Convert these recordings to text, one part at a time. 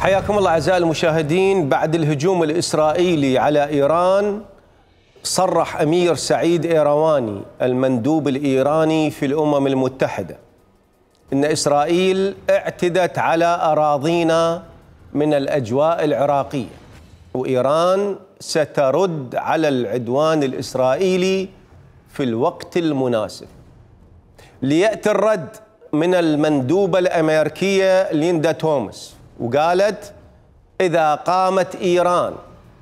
حياكم الله أعزائي المشاهدين. بعد الهجوم الإسرائيلي على إيران، صرح أمير سعيد إيرواني المندوب الإيراني في الأمم المتحدة إن إسرائيل اعتدت على أراضينا من الأجواء العراقية، وإيران سترد على العدوان الإسرائيلي في الوقت المناسب. ليأتي الرد من المندوبة الأمريكية ليندا توماس، وقالت: إذا قامت إيران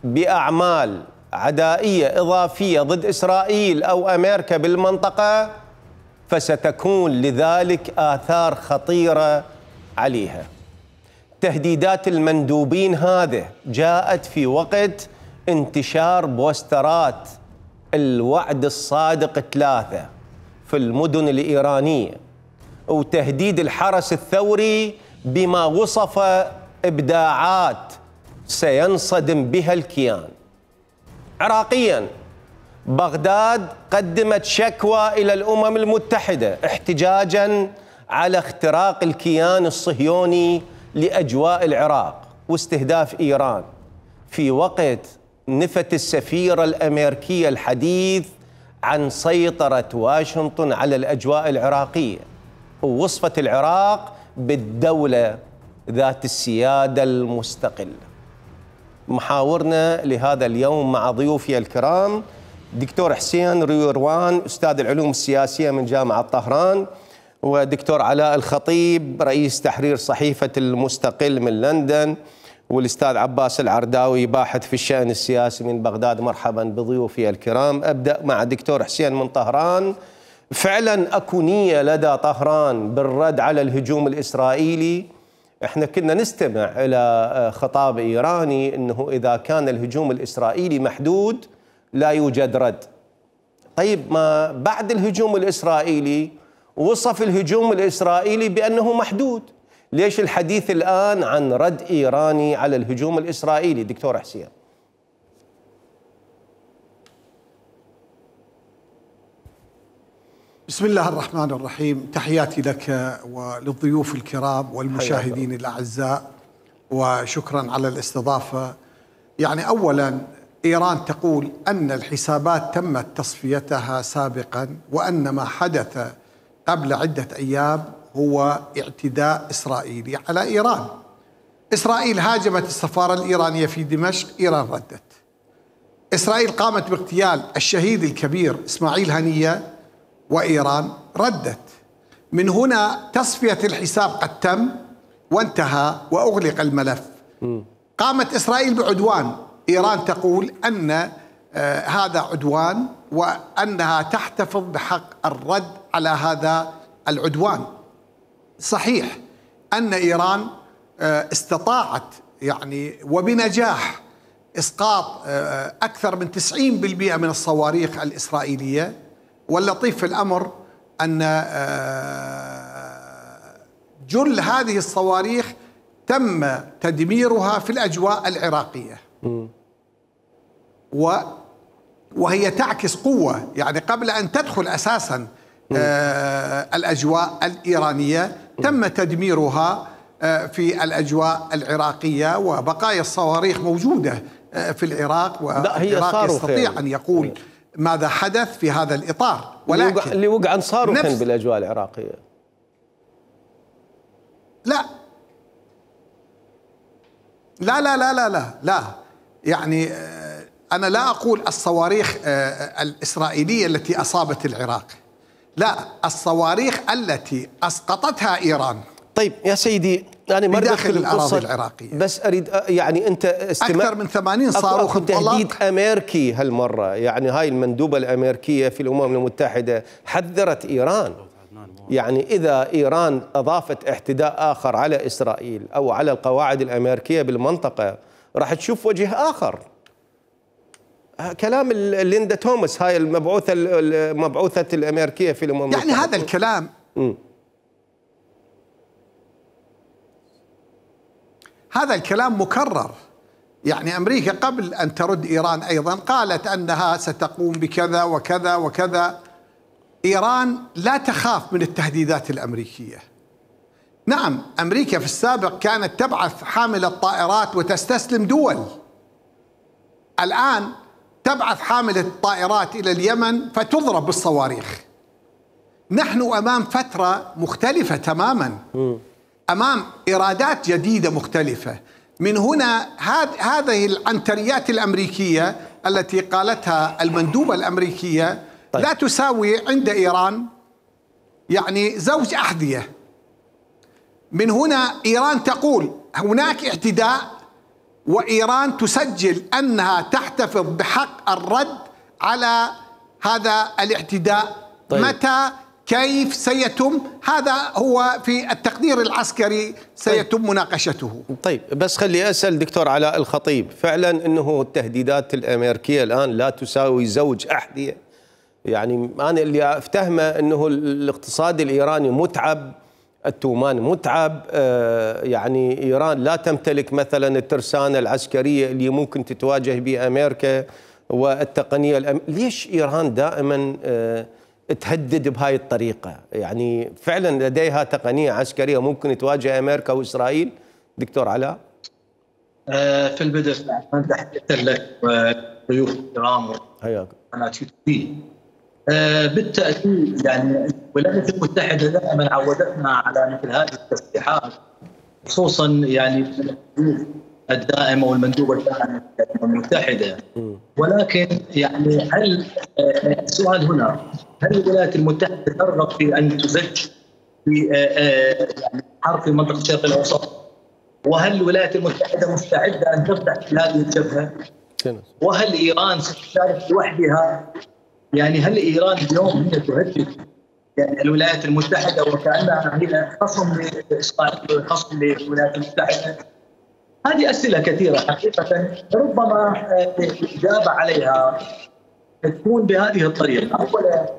بأعمال عدائية إضافية ضد إسرائيل أو أمريكا بالمنطقة فستكون لذلك آثار خطيرة عليها. تهديدات المندوبين هذه جاءت في وقت انتشار بوسترات الوعد الصادق 3 في المدن الإيرانية، وتهديد الحرس الثوري بما وصف إبداعات سينصدم بها الكيان. عراقياً، بغداد قدمت شكوى إلى الأمم المتحدة احتجاجاً على اختراق الكيان الصهيوني لأجواء العراق واستهداف إيران، في وقت نفت السفيرة الأمريكية الحديث عن سيطرة واشنطن على الأجواء العراقية، ووصفت العراق بالدولة ذات السيادة المستقلة. محاورنا لهذا اليوم مع ضيوفي الكرام دكتور حسين ريروان، أستاذ العلوم السياسية من جامعة طهران، ودكتور علاء الخطيب رئيس تحرير صحيفة المستقل من لندن، والأستاذ عباس العرداوي باحث في الشأن السياسي من بغداد. مرحبا بضيوفي الكرام. أبدأ مع الدكتور حسين من طهران. فعلا أكو نية لدى طهران بالرد على الهجوم الإسرائيلي؟ احنا كنا نستمع إلى خطاب إيراني أنه إذا كان الهجوم الإسرائيلي محدود لا يوجد رد. طيب، ما بعد الهجوم الإسرائيلي وصف الهجوم الإسرائيلي بأنه محدود، ليش الحديث الآن عن رد إيراني على الهجوم الإسرائيلي دكتور حسين؟ بسم الله الرحمن الرحيم. تحياتي لك وللضيوف الكرام والمشاهدين الأعزاء، وشكرا على الاستضافة. يعني أولا، إيران تقول أن الحسابات تمت تصفيتها سابقا، وأن ما حدث قبل عدة أيام هو اعتداء إسرائيلي على إيران. إسرائيل هاجمت السفارة الإيرانية في دمشق، إيران ردت. إسرائيل قامت باغتيال الشهيد الكبير إسماعيل هنية، وإيران ردت. من هنا تصفية الحساب قد تم وانتهى وأغلق الملف. قامت إسرائيل بعدوان، إيران تقول أن هذا عدوان وأنها تحتفظ بحق الرد على هذا العدوان. صحيح أن إيران استطاعت يعني وبنجاح إسقاط أكثر من 90% من الصواريخ الإسرائيلية، واللطيف في الأمر أن جل هذه الصواريخ تم تدميرها في الأجواء العراقية، وهي تعكس قوة. يعني قبل أن تدخل أساسا الأجواء الإيرانية تم تدميرها في الأجواء العراقية، وبقايا الصواريخ موجودة في العراق، والعراق يستطيع أن يقول ماذا حدث في هذا الإطار. ولكن اللي وقع صاروخ بالأجواء العراقية. لا لا لا لا لا لا, لا. يعني أنا لا أقول الصواريخ الإسرائيلية التي أصابت العراق، لا، الصواريخ التي أسقطتها إيران. طيب يا سيدي، أنا ما بداخل الأراضي العراقية، بس أريد يعني أنت أكثر من 80 صاروخ تهديد أمريكي هالمرة. يعني هاي المندوبة الأمريكية في الأمم المتحدة حذرت إيران، يعني إذا إيران أضافت اعتداء آخر على إسرائيل أو على القواعد الأمريكية بالمنطقة راح تشوف وجه آخر. كلام ليندا توماس، هاي المبعوثة الأمريكية في الأمم المتحدة. يعني هذا الكلام هذا الكلام مكرر. يعني أمريكا قبل أن ترد إيران أيضا قالت أنها ستقوم بكذا وكذا وكذا. إيران لا تخاف من التهديدات الأمريكية. نعم، أمريكا في السابق كانت تبعث حاملة طائرات وتستسلم دول، الآن تبعث حاملة طائرات إلى اليمن فتضرب بالصواريخ. نحن أمام فترة مختلفة تماما، أمام إرادات جديدة مختلفة. من هنا هذه العنتريات الأمريكية التي قالتها المندوبة الأمريكية لا تساوي عند إيران يعني زوج أحذية. من هنا إيران تقول هناك اعتداء، وإيران تسجل أنها تحتفظ بحق الرد على هذا الاعتداء. متى كيف سيتم؟ هذا هو في التقدير العسكري سيتم مناقشته. طيب بس خلي أسأل دكتور علاء الخطيب، فعلا أنه التهديدات الأمريكية الآن لا تساوي زوج أحذية؟ يعني أنا اللي أفتهمه أنه الاقتصاد الإيراني متعب، التومان متعب، يعني إيران لا تمتلك مثلا الترسانة العسكرية اللي ممكن تتواجه بها أمريكا والتقنية ليش إيران دائما تهدد بهاي الطريقة؟ يعني فعلا لديها تقنية عسكرية ممكن تواجه أمريكا وإسرائيل دكتور علاء؟ في البدء تحية لك وضيوف الكرام حياك. بالتأكيد يعني الولايات المتحدة دائما عودتنا على مثل هذه التصريحات، خصوصا يعني الدائمة والمندوبة الدائمة المتحدة. ولكن يعني هل السؤال هنا، هل الولايات المتحدة ترغب في أن تزج في حرب في منطقة الشرق الأوسط؟ وهل الولايات المتحدة مستعدة أن تفتح في هذه الجبهة؟ وهل إيران ستشارك لوحدها؟ يعني هل إيران اليوم هي تهدد يعني الولايات المتحدة وكأنها هي خصم لإسرائيل وخصم للولايات المتحدة؟ هذه أسئلة كثيرة حقيقة، ربما الإجابة عليها تكون بهذه الطريقة. أولا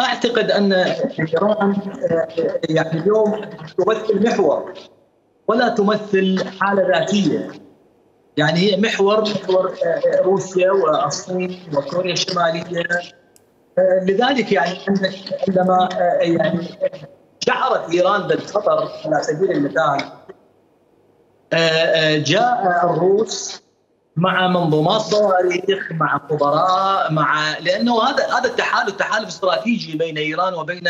أعتقد أن إيران يعني اليوم تمثل محور ولا تمثل حالة ذاتية، يعني هي محور روسيا والصين وكوريا الشمالية. لذلك يعني عندما يعني شعرت إيران بالخطر على سبيل المثال، جاء الروس مع منظومات صواريخ، مع خبراء، لأنه هذا تحالف استراتيجي بين إيران وبين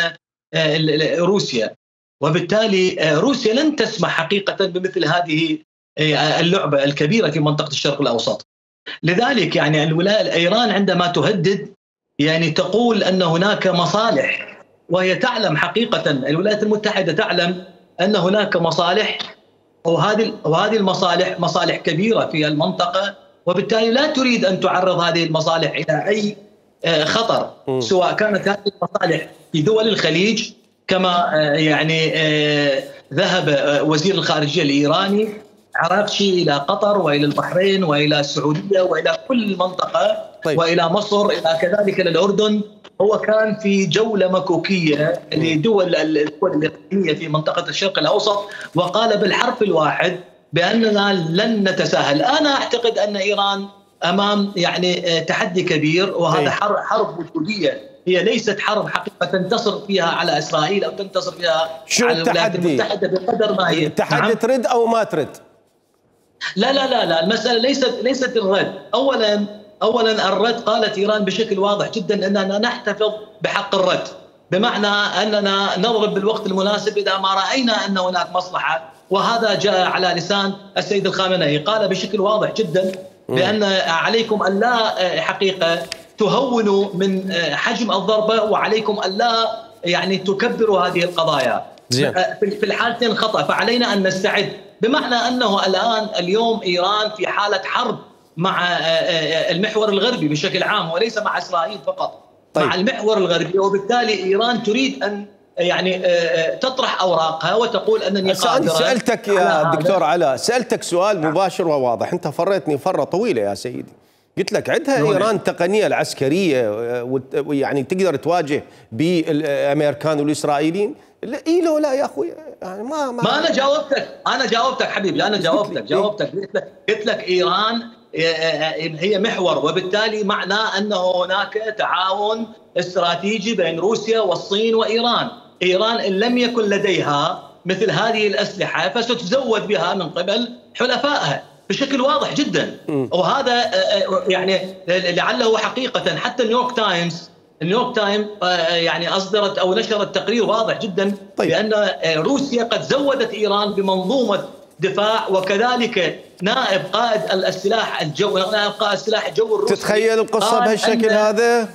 روسيا، وبالتالي روسيا لن تسمح حقيقة بمثل هذه اللعبة الكبيرة في منطقة الشرق الأوسط. لذلك يعني إيران عندما تهدد يعني تقول أن هناك مصالح، وهي تعلم حقيقة، الولايات المتحدة تعلم أن هناك مصالح، وهذه المصالح مصالح كبيرة في المنطقة، وبالتالي لا تريد أن تعرض هذه المصالح إلى أي خطر، سواء كانت هذه المصالح في دول الخليج كما يعني ذهب وزير الخارجية الإيراني عراقشي إلى قطر وإلى البحرين وإلى السعودية وإلى كل المنطقة. طيب. وإلى مصر، إلى كذلك الأردن. هو كان في جولة مكوكية لدول الإقليمية في منطقة الشرق الأوسط، وقال بالحرف الواحد بأننا لن نتساهل. أنا أعتقد أن إيران أمام يعني تحدي كبير، وهذا حرب وجودية، هي ليست حرب حقيقة تنتصر فيها على إسرائيل أو تنتصر فيها على الولايات المتحدة بقدر ما هي. التحدي ترد أو ما ترد؟ لا، المسألة ليست الرد. أولا الرد، قالت إيران بشكل واضح جدا أننا نحتفظ بحق الرد، بمعنى أننا نضرب بالوقت المناسب إذا ما رأينا أن هناك مصلحة. وهذا جاء على لسان السيد الخامنئي، قال بشكل واضح جدا بأن عليكم أن لا حقيقة تهونوا من حجم الضربة، وعليكم أن لا يعني تكبروا هذه القضايا. في الحالتين خطأ، فعلينا أن نستعد، بمعنى أنه اليوم إيران في حالة حرب مع المحور الغربي بشكل عام، وليس مع إسرائيل فقط. طيب. مع المحور الغربي، وبالتالي إيران تريد أن يعني تطرح أوراقها وتقول أنني قادرة. سألتك يا دكتور علاء، سألتك سؤال مباشر وواضح، أنت فريتني فرة طويلة يا سيدي. قلت لك عندها إيران التقنية العسكرية ويعني تقدر تواجه بالأمريكان والإسرائيليين؟ لا يا أخوي، يعني ما أنا جاوبتك حبيبي، أنا جاوبتك قلت لك إيران هي محور، وبالتالي معناه أنه هناك تعاون استراتيجي بين روسيا والصين وإيران. إيران إن لم يكن لديها مثل هذه الأسلحة فستزود بها من قبل حلفائها بشكل واضح جدا. وهذا يعني لعله حقيقة حتى النيويورك تايمز يعني أصدرت أو نشرت تقرير واضح جدا بأن روسيا قد زودت إيران بمنظومة دفاع، وكذلك نائب قائد السلاح الجوي الروسي. تتخيل القصة بهالشكل هذا؟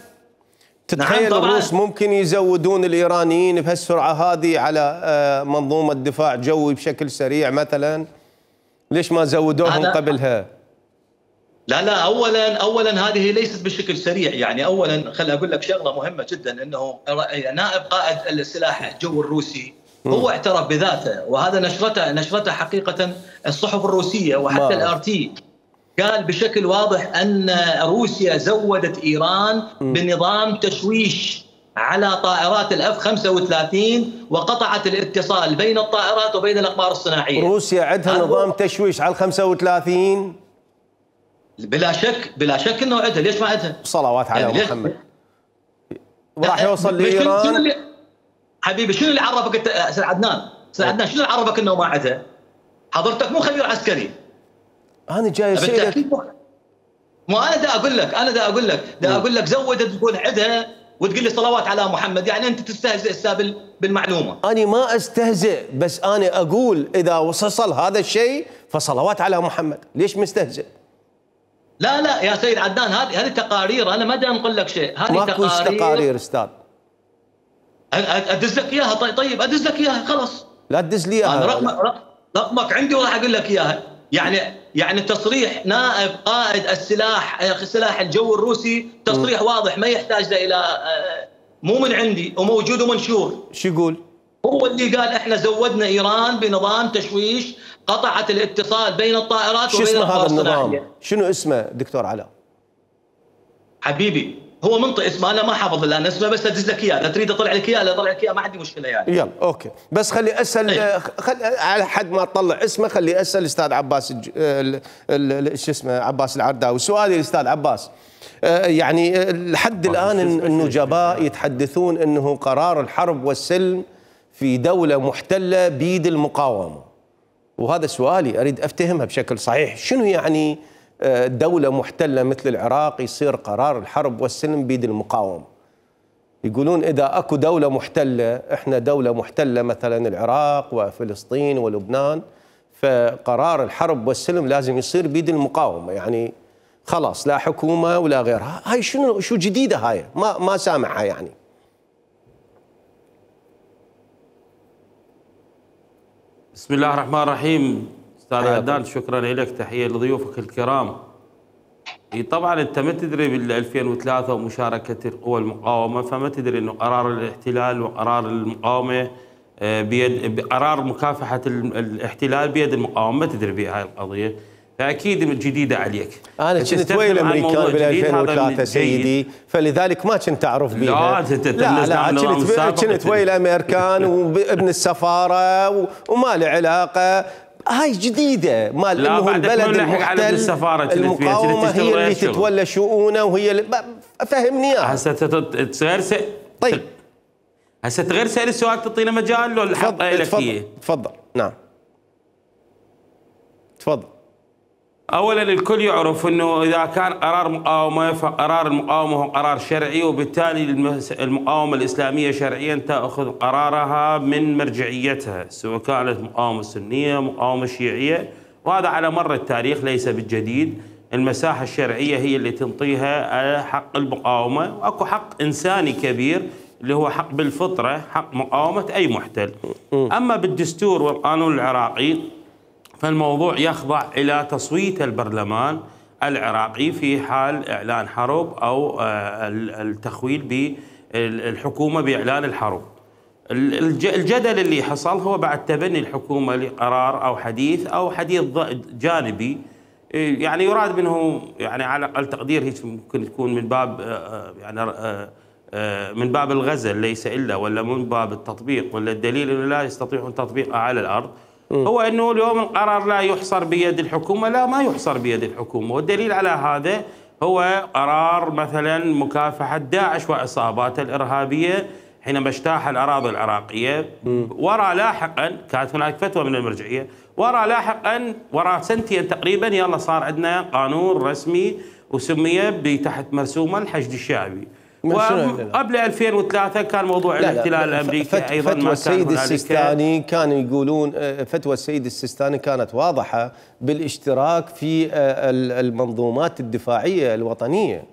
تتخيل نعم الروس ممكن يزودون الإيرانيين بهالسرعة هذه على منظومة دفاع جوي بشكل سريع مثلا؟ ليش ما زودوهم قبلها؟ لا اولا هذه ليست بشكل سريع. يعني اولا خليني اقول لك شغله مهمه جدا، انه نائب قائد السلاح الجوي الروسي هو اعترف بذاته، وهذا نشرته حقيقه الصحف الروسيه وحتى الار تي، قال بشكل واضح ان روسيا زودت ايران بنظام تشويش على طائرات الاف 35 وقطعت الاتصال بين الطائرات وبين الاقمار الصناعيه. روسيا عندها نظام تشويش على 35؟ بلا شك انه عندها. ليش ما عندها؟ صلوات على يعني محمد. وراح يوصل لايران. حبيبي شنو اللي عرفك انت استاذ عدنان؟ استاذ عدنان شنو اللي عرفك انه ما عندها؟ حضرتك مو خبير عسكري. انا جاي اسالك. مو انا دا اقول لك زودت تقول عندها وتقول لي صلوات على محمد. يعني انت تستهزئ بالمعلومه. انا ما استهزئ، بس انا اقول اذا وصل هذا الشيء فصلوات على محمد. ليش مستهزئ؟ لا يا سيد عدنان، هذه تقارير، انا ما دا نقول لك شيء. هذه تقارير استاذ. ادز لك اياها. طيب ادز لك اياها خلاص. لا تدز لي اياها. رقمك عندي وراح اقول لك اياها. يعني تصريح نائب قائد السلاح الجوي الروسي تصريح واضح ما يحتاج الى مو من عندي وموجود ومنشور. شو يقول؟ هو اللي قال احنا زودنا ايران بنظام تشويش، قطعت الاتصال بين الطائرات وبين الاقمار الصناعيه. شنو اسمه دكتور علاء؟ حبيبي هو منطق اسمه، انا ما حافظ الان اسمه، بس ادز لك اياه. اذا تريد اطلع لك اياه ما عندي مشكله يعني. يلا اوكي، بس خلي اسال على حد ما تطلع اسمه خلي اسال استاذ عباس شو اسمه عباس العرداوي. سؤالي الاستاذ عباس، يعني لحد الان النجباء يتحدثون انه قرار الحرب والسلم في دوله محتله بيد المقاومه، وهذا سؤالي اريد افتهمها بشكل صحيح. شنو يعني دولة محتلة مثل العراق يصير قرار الحرب والسلم بيد المقاومة؟ يقولون إذا أكو دولة محتلة، إحنا دولة محتلة مثلا العراق وفلسطين ولبنان، فقرار الحرب والسلم لازم يصير بيد المقاومة، يعني خلاص لا حكومة ولا غيرها. هاي شو جديدة هاي؟ ما سامعها يعني. بسم الله الرحمن الرحيم. استاذ عدنان شكرا لك، تحيه لضيوفك الكرام. طبعا انت ما تدري بال 2003 ومشاركه القوى المقاومه، فما تدري انه قرار الاحتلال وقرار المقاومه بيد قرار مكافحه الاحتلال بيد المقاومه، ما تدري بهاي القضيه، فاكيد جديده عليك. انا كنت ويا الامريكان بال 2003 سيدي، فلذلك ما كنت اعرف بيها. لا كنت ويا الامريكان وابن السفاره وما له علاقه. هاي جديده مال انه البلد المحتل المقاومه هي اللي تتولى شؤونه وهي اللي فهمني اياها. هسه طيب هسه غير سأل السؤال تعطينا مجال لو الحق لك اياه. تفضل. نعم تفضل. اولا الكل يعرف انه اذا كان قرار مقاومه فقرار المقاومه هو قرار شرعي، وبالتالي المقاومه الاسلاميه شرعيا تاخذ قرارها من مرجعيتها، سواء كانت مقاومه سنيه مقاومه شيعيه، وهذا على مر التاريخ ليس بالجديد. المساحه الشرعيه هي اللي تنطيها حق المقاومه، واكو حق انساني كبير اللي هو حق بالفطره، حق مقاومه اي محتل. اما بالدستور والقانون العراقي فالموضوع يخضع إلى تصويت البرلمان العراقي في حال إعلان حرب أو التخويل بالحكومة بإعلان الحرب. الجدل اللي حصل هو بعد تبني الحكومة لقرار أو حديث جانبي، يعني يراد منه يعني على أقل تقدير هيك ممكن تكون من باب يعني من باب الغزل ليس إلا، ولا من باب التطبيق، ولا الدليل أنه لا يستطيعون تطبيقها على الأرض. هو أنه اليوم القرار لا يحصر بيد الحكومة، لا ما يحصر بيد الحكومة، والدليل على هذا هو قرار مثلا مكافحة داعش وعصاباته الإرهابية حينما اجتاح الأراضي العراقية. وراء لاحقا كانت هناك فتوى من المرجعية، وراء لاحقا وراء سنتين تقريبا يلا صار عندنا قانون رسمي وسمي تحت مرسومه الحشد الشعبي. وقبل 2003 كان موضوع الاحتلال الامريكي ايضا فتوى السيد السيستاني كانوا يقولون، فتوى السيد السيستاني كانت واضحه بالاشتراك في المنظومات الدفاعيه الوطنيه،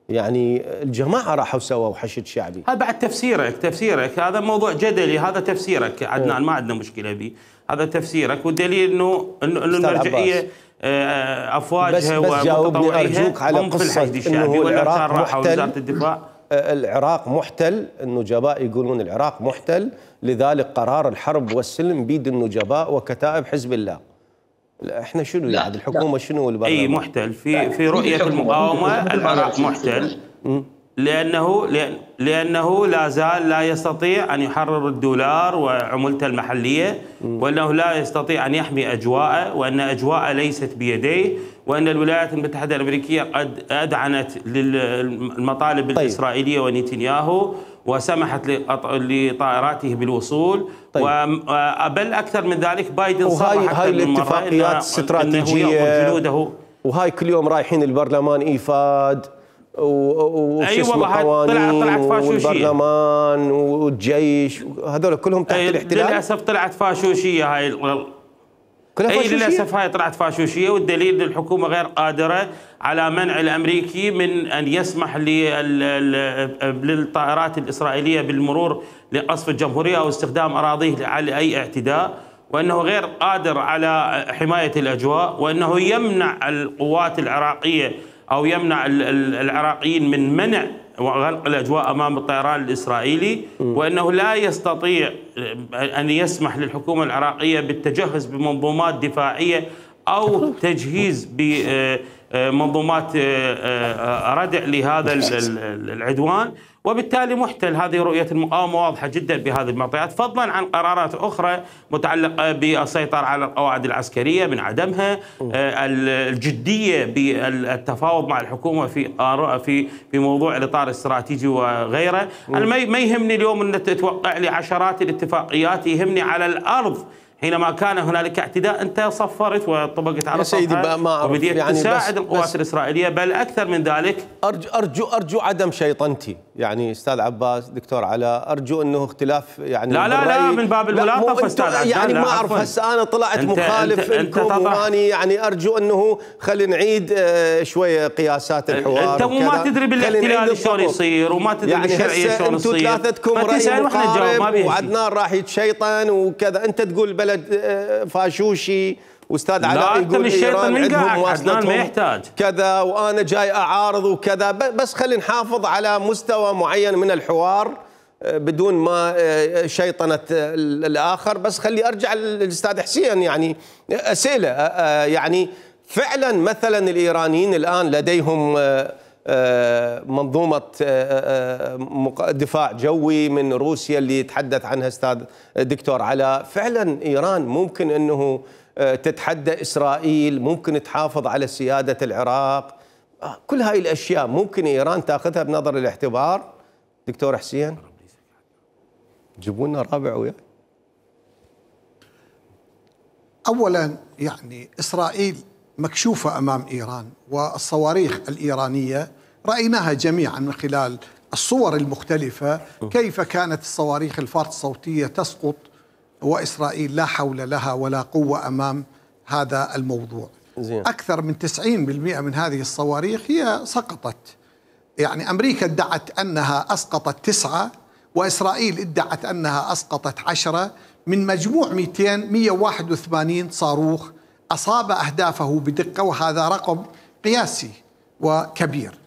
يعني الجماعه راحوا سووا حشد شعبي. هذا بعد تفسيرك هذا موضوع جدلي، هذا تفسيرك عدنان، ما عندنا مشكله به، هذا تفسيرك، والدليل انه المرجعيه افواجها ومتطوعيها هم في الحشد الشعبي ولا كان راحوا وزاره الدفاع. العراق محتل، النجباء يقولون العراق محتل، لذلك قرار الحرب والسلم بيد النجباء وكتائب حزب الله. احنا شنو يعني الحكومه شنو والبرلمان؟ اي محتل في رؤيه المقاومه العراق محتل لأنه لا زال لا يستطيع أن يحرر الدولار وعملته المحلية، وأنه لا يستطيع أن يحمي أجواءه، وأن أجواءه ليست بيديه، وأن الولايات المتحدة الأمريكية قد أذعنت للمطالب الإسرائيلية ونتنياهو وسمحت لطائراته بالوصول. بل أكثر من ذلك بايدن صرح هاي الاتفاقيات الاستراتيجية، وهاي كل يوم رايحين البرلمان إيفاد اي والله طلعت فاشوشيه والبرلمان والجيش، هذول كلهم تحت الاحتلال. للاسف طلعت فاشوشيه هاي كلها فاشوشية؟ للاسف هاي طلعت فاشوشيه، والدليل ان الحكومه غير قادره على منع الامريكي من ان يسمح للطائرات الاسرائيليه بالمرور لقصف الجمهوريه او استخدام اراضيه على اي اعتداء، وانه غير قادر على حمايه الاجواء، وانه يمنع القوات العراقيه أو يمنع العراقيين من منع وغلق الأجواء أمام الطيران الإسرائيلي، وأنه لا يستطيع أن يسمح للحكومة العراقية بالتجهز بمنظومات دفاعية أو تجهيز بمنظومات ردع لهذا العدوان، وبالتالي محتل. هذه رؤية المقاومة واضحة جدا بهذه المعطيات، فضلا عن قرارات أخرى متعلقة بالسيطرة على القواعد العسكرية من عدمها، الجدية بالتفاوض مع الحكومة في موضوع الإطار الاستراتيجي وغيره. أنا ما يهمني اليوم أن تتوقع لي عشرات الاتفاقيات، يهمني على الأرض حينما كان هنالك اعتداء أنت صفرت وطبقت على صفها وبديت يعني تساعد القوات الإسرائيلية، بل أكثر من ذلك. أرجو عدم شيطنتي يعني أستاذ عباس، دكتور علاء، أرجو أنه اختلاف يعني لا من باب الملاطفة أستاذ عباس، يعني ما أعرف هسه أنا طلعت مخالف لكم واني يعني أرجو أنه خلينا نعيد شوية قياسات الحوار. أنت ما تدري بالاحتلال شلون يصير وما تدري يعني بالشرعية شلون يصير، أنتم ثلاثتكم رأي مقارب وعدنان راح يتشيطن وكذا، أنت تقول بلد فاشوشي واستاذ علاء يقول ايران عندهم مواصلتهم كذا وانا جاي اعارض وكذا، بس خلينا نحافظ على مستوى معين من الحوار بدون ما شيطنة الاخر. بس خلي ارجع للاستاذ حسين، يعني اسئله يعني فعلا مثلا الايرانيين الان لديهم منظومة دفاع جوي من روسيا اللي يتحدث عنها أستاذ دكتور علاء، فعلا إيران ممكن أنه تتحدى إسرائيل، ممكن تحافظ على سيادة العراق، كل هاي الأشياء ممكن إيران تأخذها بنظر الاعتبار. دكتور حسين جيبوا لنا رابع وياي. أولا يعني إسرائيل مكشوفة أمام إيران، والصواريخ الإيرانية رأيناها جميعا من خلال الصور المختلفة كيف كانت الصواريخ الفارط الصوتية تسقط، وإسرائيل لا حول لها ولا قوة أمام هذا الموضوع. أكثر من 90% من هذه الصواريخ هي سقطت، يعني أمريكا ادعت أنها أسقطت 9، وإسرائيل ادعت أنها أسقطت 10 من مجموع 181 صاروخ أصاب أهدافه بدقة، وهذا رقم قياسي وكبير.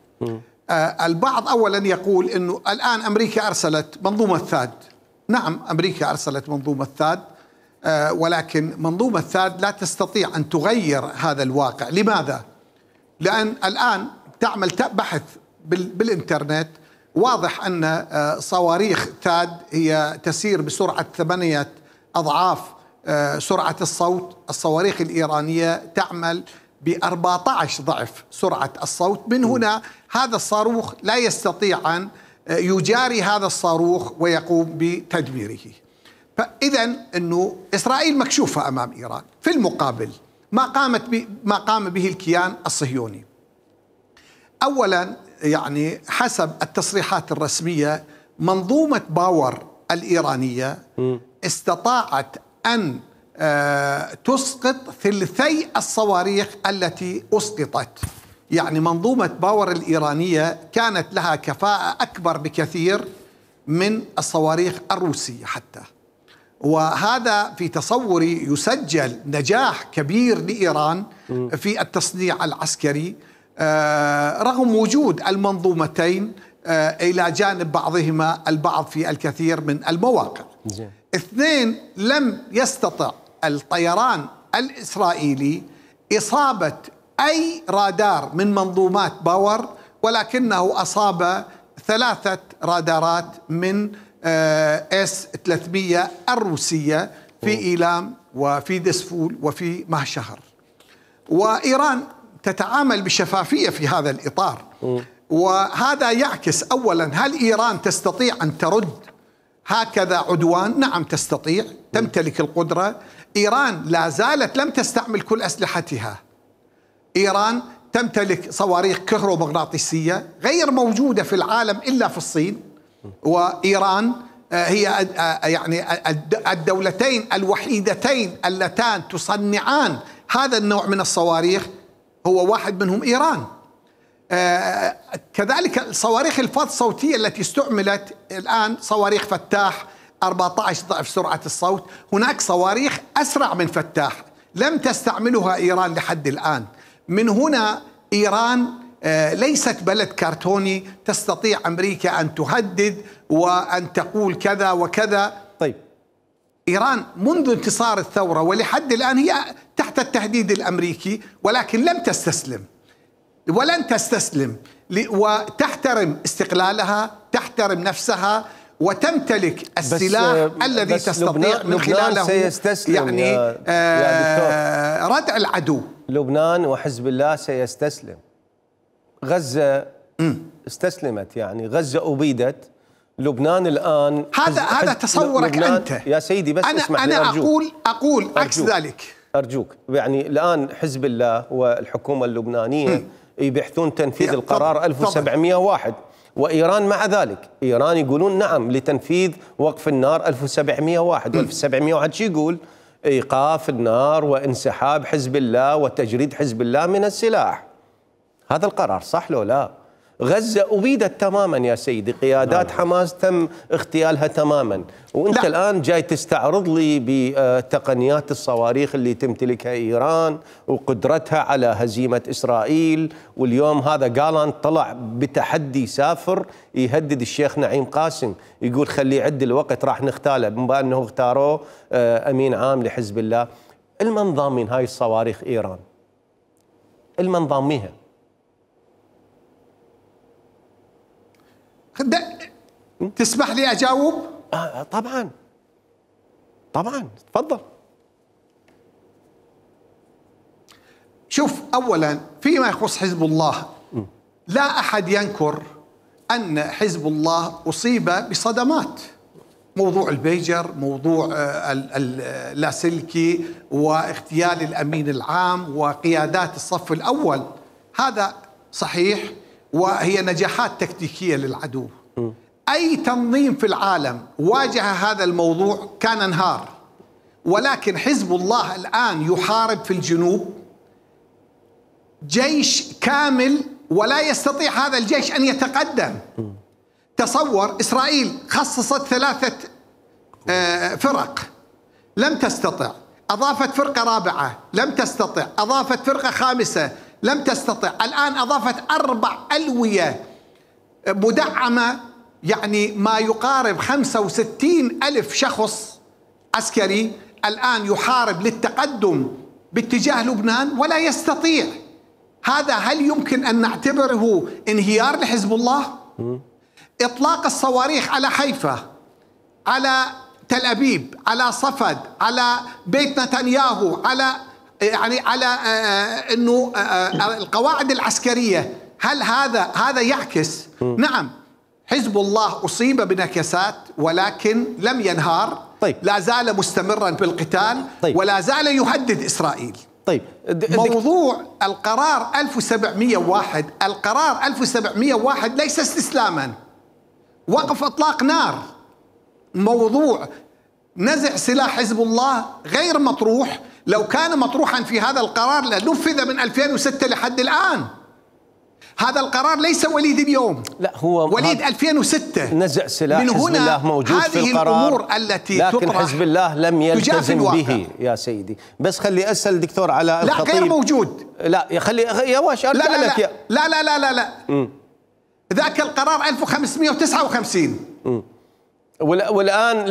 البعض أولا يقول أنه الآن أمريكا أرسلت منظومة ثاد. نعم أمريكا أرسلت منظومة ثاد، ولكن منظومة ثاد لا تستطيع أن تغير هذا الواقع. لماذا؟ لأن الآن تعمل بحث بالإنترنت، واضح أن صواريخ ثاد هي تسير بسرعة 8 أضعاف سرعة الصوت. الصواريخ الإيرانية تعمل ب14 ضعف سرعة الصوت. من هنا هذا الصاروخ لا يستطيع أن يجاري هذا الصاروخ ويقوم بتدميره. فإذا أنه إسرائيل مكشوفة أمام إيران. في المقابل ما قام به الكيان الصهيوني. أولا يعني حسب التصريحات الرسمية منظومة باور الإيرانية استطاعت أن تسقط ثلثي الصواريخ التي أسقطت. يعني منظومة باور الإيرانية كانت لها كفاءة أكبر بكثير من الصواريخ الروسية حتى. وهذا في تصوري يسجل نجاح كبير لإيران في التصنيع العسكري رغم وجود المنظومتين إلى جانب بعضهما البعض في الكثير من المواقع. اثنين، لم يستطع الطيران الإسرائيلي إصابة أي رادار من منظومات باور، ولكنه أصاب 3 رادارات من S-300 الروسية في إيلام وفي دسفول وفي مهشهر. وإيران تتعامل بشفافية في هذا الإطار. وهذا يعكس أولا، هل إيران تستطيع أن ترد هكذا عدوان؟ نعم تستطيع، تمتلك القدرة. إيران لا زالت لم تستعمل كل أسلحتها. إيران تمتلك صواريخ كهرومغناطيسية غير موجودة في العالم إلا في الصين. وإيران هي يعني الدولتين الوحيدتين اللتان تصنعان هذا النوع من الصواريخ، هو واحد منهم إيران. كذلك صواريخ الفاض الصوتية التي استعملت الآن صواريخ فتاح 14 ضعف سرعة الصوت. هناك صواريخ أسرع من فتاح لم تستعملها إيران لحد الآن. من هنا إيران ليست بلد كرتوني تستطيع أمريكا أن تهدد وأن تقول كذا وكذا. طيب، إيران منذ انتصار الثورة ولحد الآن هي تحت التهديد الأمريكي، ولكن لم تستسلم ولن تستسلم، وتحترم استقلالها، تحترم نفسها، وتمتلك السلاح الذي تستطيع من خلاله سيستسلم يعني يا ردع العدو. لبنان وحزب الله سيستسلم. غزة استسلمت، يعني غزة أبيدت. لبنان الآن هذا تصورك أنت يا سيدي، بس اسمح لي أنا أقول عكس ذلك. أرجوك. يعني الآن حزب الله والحكومة اللبنانية يبحثون تنفيذ القرار 1701، وإيران مع ذلك. إيران يقولون نعم لتنفيذ وقف النار 1701. و1701 شو يقول؟ إيقاف النار وانسحاب حزب الله وتجريد حزب الله من السلاح. هذا القرار صح لو لا؟ غزة أبيدت تماما يا سيدي، قيادات حماس تم اغتيالها تماما، وانت الآن جاي تستعرض لي بتقنيات الصواريخ اللي تمتلكها إيران وقدرتها على هزيمة إسرائيل. واليوم هذا جالانت طلع بتحدي سافر يهدد الشيخ نعيم قاسم، يقول خليه يعد الوقت راح نغتاله، بما أنه اختاروه أمين عام لحزب الله. المن ضامن هاي الصواريخ إيران؟ المن ضامنها؟ تسمح لي أجاوب؟ طبعا تفضل. شوف، أولا فيما يخص حزب الله، لا أحد ينكر أن حزب الله أصيب بصدمات. موضوع البيجر، موضوع اللاسلكي، واغتيال الأمين العام وقيادات الصف الأول، هذا صحيح، وهي نجاحات تكتيكية للعدو. أي تنظيم في العالم واجه هذا الموضوع كان انهار. ولكن حزب الله الآن يحارب في الجنوب جيش كامل، ولا يستطيع هذا الجيش أن يتقدم. تصور، إسرائيل خصصت 3 فرق لم تستطع، أضافت فرقة رابعة لم تستطع، أضافت فرقة خامسة لم تستطع، الآن أضافت 4 ألوية مدعمة، يعني ما يقارب 65,000 شخص عسكري الآن يحارب للتقدم باتجاه لبنان ولا يستطيع. هذا هل يمكن أن نعتبره انهيار لحزب الله؟ إطلاق الصواريخ على حيفا، على تل أبيب، على صفد، على بيت نتنياهو، على القواعد العسكرية، هل هذا يعكس؟ نعم، حزب الله أصيب بنكسات ولكن لم ينهار. طيب. لا زال مستمرا بالقتال. طيب. ولا زال يهدد إسرائيل. طيب. موضوع القرار 1701، القرار 1701 ليس استسلاما، وقف إطلاق نار. موضوع نزع سلاح حزب الله غير مطروح. لو كان مطروحا في هذا القرار لنفذ من 2006 لحد الآن. هذا القرار ليس وليد اليوم، لا هو وليد 2006. نزع سلاح حزب الله موجود في القرار، الأمور التي لكن حزب الله لم يلتزم به الواقع. يا سيدي. بس خلي أسأل الدكتور علاء الخطيب. لا غير موجود. لا خلي يا واش لا أرجع لا لك لا, لا لا لا لا لا ذاك القرار 1559. والآن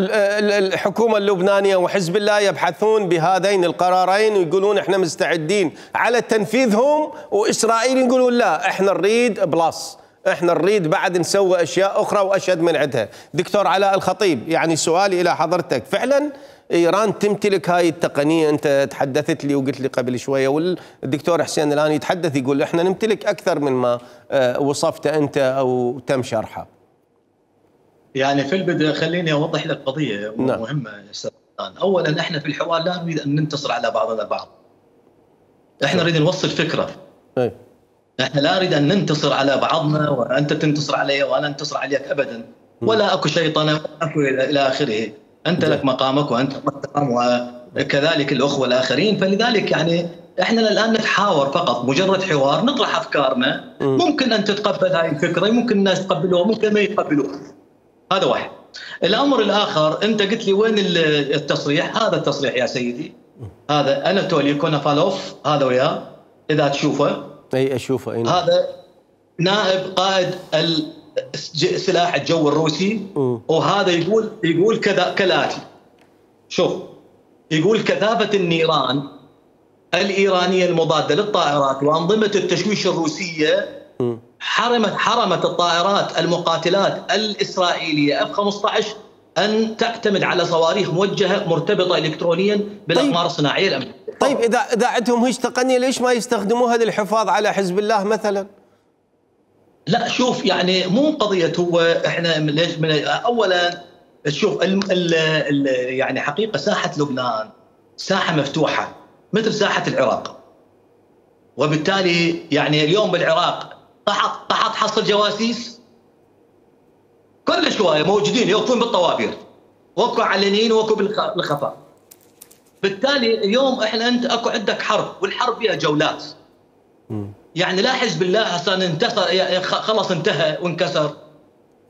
الحكومة اللبنانية وحزب الله يبحثون بهذين القرارين ويقولون احنا مستعدين على تنفيذهم، وإسرائيل يقولون لا احنا نريد بلس، احنا نريد بعد نسوي أشياء أخرى وأشد من عندها. دكتور علاء الخطيب، يعني سؤالي إلى حضرتك، فعلا إيران تمتلك هاي التقنية؟ أنت تحدثت لي وقلت لي قبل شوية، والدكتور حسين الآن يتحدث يقول احنا نمتلك أكثر من ما وصفت أنت أو تم شرحه. يعني في البداية خليني أوضح لك قضية مهمة يا أستاذ. أولا احنا في الحوار لا نريد أن ننتصر على بعضنا البعض، احنا نريد نوصل فكرة. احنا لا نريد أن ننتصر على بعضنا وأنت تنتصر علي وأنا أنتصر عليك أبدا، ولا أكو شيطنة ولا أكو إلى آخره. أنت لك مقامك وأنت محترم وكذلك الأخوة الآخرين. فلذلك يعني احنا الآن نتحاور فقط، مجرد حوار نطرح أفكارنا. ممكن أن تتقبل هاي الفكرة، ممكن الناس يتقبلوها، ممكن ما يتقبلوها. هذا واحد. الأمر الآخر، أنت قلت لي وين التصريح؟ هذا التصريح يا سيدي، هذا أناتولي كونوفالوف، هذا وياه إذا تشوفه. أي أشوفه. أي هذا نائب قائد سلاح الجو الروسي. وهذا يقول كذا كالآتي. شوف، يقول كثافة النيران الإيرانية المضادة للطائرات وأنظمة التشويش الروسية حرمت الطائرات المقاتلات الإسرائيلية F-15 أن تعتمد على صواريخ موجهة مرتبطة إلكترونيا بالأقمار الصناعية الأمريكية. طيب إذا عندهم هيك تقنية ليش ما يستخدموها للحفاظ على حزب الله مثلا؟ لا شوف، يعني مو قضية هو احنا ليش أولا شوف يعني حقيقة ساحة لبنان ساحة مفتوحة مثل ساحة العراق، وبالتالي يعني اليوم بالعراق طحط حصل جواسيس كل شويه موجودين يوقفون بالطوابير، وكو علنيين وكو بالخفاء. بالتالي اليوم انت اكو عندك حرب، والحرب فيها جولات. يعني لا حزب الله اصلا انتصر خلص انتهى وانكسر،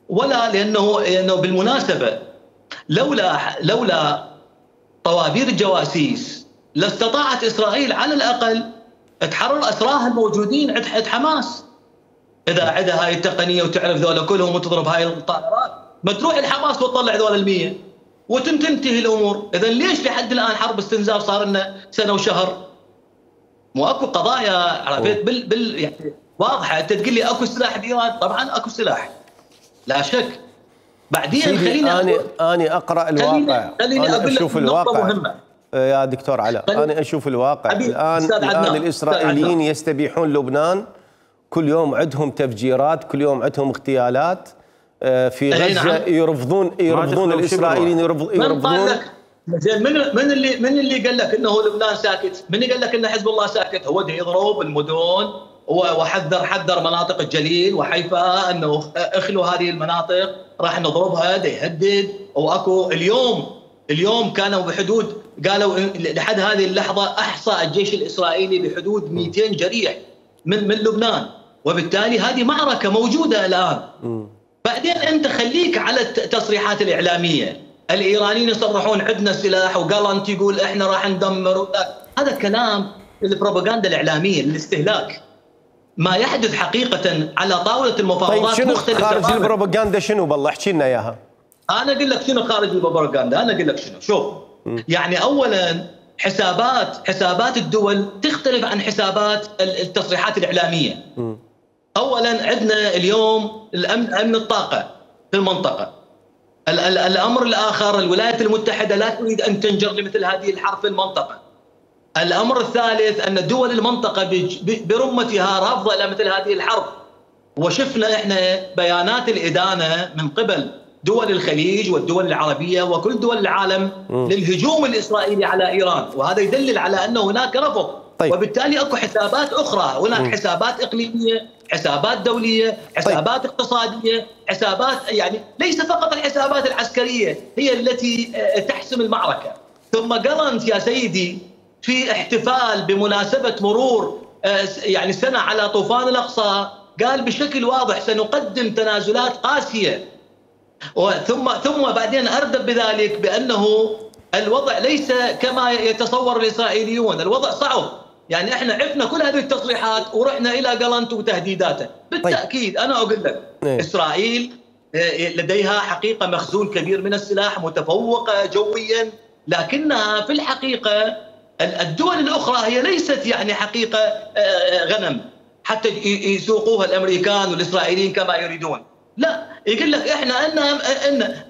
ولا لانه بالمناسبه لولا طوابير الجواسيس لاستطاعت اسرائيل على الاقل تحرر اسراها الموجودين عند حماس. إذا عندها هاي التقنية وتعرف ذولا كلهم وتضرب هاي الطائرات، ما تروح الحماس وتطلع ذولا 100 وتنتهي الأمور. إذا ليش لحد الآن حرب استنزاف صار لنا سنة وشهر؟ مو أكو قضايا عرفت يعني واضحة. أنت تقول لي أكو سلاح بإيران، طبعا أكو سلاح لا شك. بعدين خليني أنا أقرأ الواقع، أنا أشوف الواقع يا دكتور علاء. أنا أشوف الواقع الآن الإسرائيليين يستبيحون لبنان، كل يوم عندهم تفجيرات، كل يوم عندهم اغتيالات في غزة. يرفضون الإسرائيليين يرفضون. من اللي قال لك انه لبنان ساكت؟ من اللي قال لك ان حزب الله ساكت؟ هو يضرب المدن حذر مناطق الجليل وحيفا انه اخلوا هذه المناطق راح نضربها، يهدد. واكو اليوم كانوا بحدود، قالوا لحد هذه اللحظه احصى الجيش الاسرائيلي بحدود 200 جريح من لبنان، وبالتالي هذه معركة موجودة الآن. بعدين أنت خليك على التصريحات الإعلامية. الإيرانيين يصرحون عندنا سلاح وقالنت يقول إحنا راح ندمر، هذا كلام البروباغندا الإعلامية، الاستهلاك. ما يحدث حقيقة على طاولة المفاوضات طيب مختلفة. خارج البروباغندا شنو بالله؟ احكي لنا إياها. أنا أقول لك شنو خارج البروباغندا، أنا أقول لك شنو. شوف، يعني أولاً حسابات الدول تختلف عن حسابات التصريحات الإعلامية. أولا عندنا اليوم أمن الطاقة في المنطقة. الأمر الآخر، الولايات المتحدة لا تريد أن تنجر لمثل هذه الحرب في المنطقة. الأمر الثالث أن دول المنطقة برمتها رافضة إلى مثل هذه الحرب. وشفنا احنا بيانات الادانه من قبل دول الخليج والدول العربيه وكل دول العالم للهجوم الاسرائيلي على ايران، وهذا يدلل على انه هناك رفض. طيب. وبالتالي اكو حسابات اخرى، هناك حسابات اقليميه، حسابات دوليه، حسابات اقتصاديه، حسابات يعني ليس فقط الحسابات العسكريه هي التي تحسم المعركه. ثم قرنت يا سيدي في احتفال بمناسبه مرور يعني سنه على طوفان الاقصى، قال بشكل واضح سنقدم تنازلات قاسيه، ثم بعدين اردف بذلك بانه الوضع ليس كما يتصور الاسرائيليون، الوضع صعب. يعني احنا عرفنا كل هذه التصريحات ورحنا الى قلنت وتهديداته. بالتاكيد انا اقول لك اسرائيل لديها حقيقه مخزون كبير من السلاح، متفوقه جويا، لكنها في الحقيقه الدول الاخرى هي ليست يعني حقيقه غنم حتى يسوقوها الامريكان والاسرائيليين كما يريدون. لا، يقول لك احنا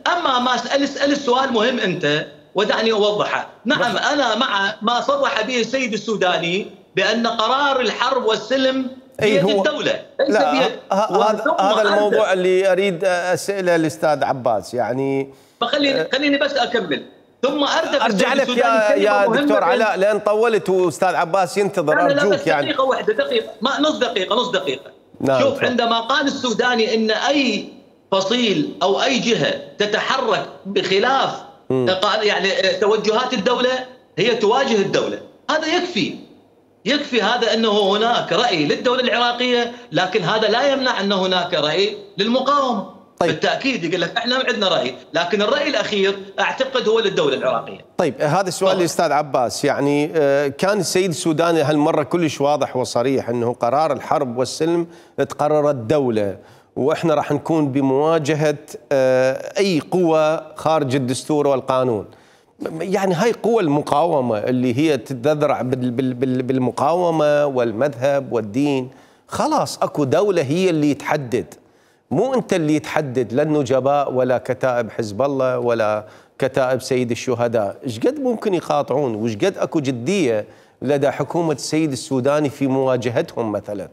اما ما اسال السؤال مهم انت ودعني اوضحه. نعم انا مع ما صرح به السيد السوداني بان قرار الحرب والسلم بيد الدوله ليس بيد. هذا الموضوع اللي اريد اساله الاستاذ عباس يعني. خليني بس اكمل ثم ارجع لك يا دكتور علاء لان طولت واستاذ عباس ينتظر. ارجوك يعني دقيقه واحده، دقيقه، ما نص دقيقه. نعم. شوف عندما قال السوداني ان اي فصيل او اي جهه تتحرك بخلاف يعني توجهات الدوله هي تواجه الدوله، هذا يكفي هذا انه هناك راي للدوله العراقيه، لكن هذا لا يمنع ان هناك راي للمقاومه. طيب. بالتاكيد يقول لك احنا عندنا راي، لكن الراي الاخير اعتقد هو للدوله العراقيه. طيب هذا السؤال للاستاذ عباس، يعني كان السيد السوداني هالمره كلش واضح وصريح انه قرار الحرب والسلم تقرر الدوله، واحنا راح نكون بمواجهه اي قوه خارج الدستور والقانون. يعني هاي قوى المقاومه اللي هي تتذرع بالمقاومه والمذهب والدين، خلاص اكو دوله هي اللي تحدد، مو انت اللي تحدد، لا النجباء ولا كتائب حزب الله ولا كتائب سيد الشهداء. ايش قد ممكن يقاطعون وايش قد اكو جديه لدى حكومه السيد السوداني في مواجهتهم مثلا؟